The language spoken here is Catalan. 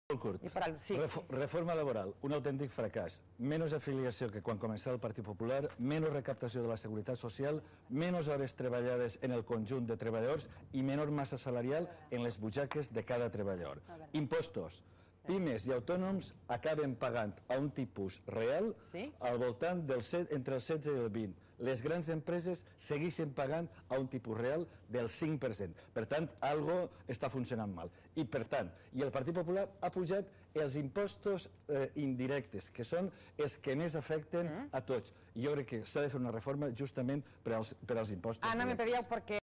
Molt curt. Sí. Reforma laboral, un autèntic fracàs. Menys afiliació que quan començava el Partit Popular, menys recaptació de la Seguretat Social, menys hores treballades en el conjunt de treballadors i menor massa salarial en les butxaques de cada treballador. Impostos. Pimes i autònoms acaben pagant a un tipus real al voltant entre el 16 i el 20. Les grans empreses segueixen pagant a un tipus real del 5%. Per tant, algo està funcionant mal. I per tant, el Partit Popular ha pujat els impostos indirectes, que són els que més afecten a tots. Jo crec que s'ha de fer una reforma justament per als impostos directes. Ana, me pedíeu perquè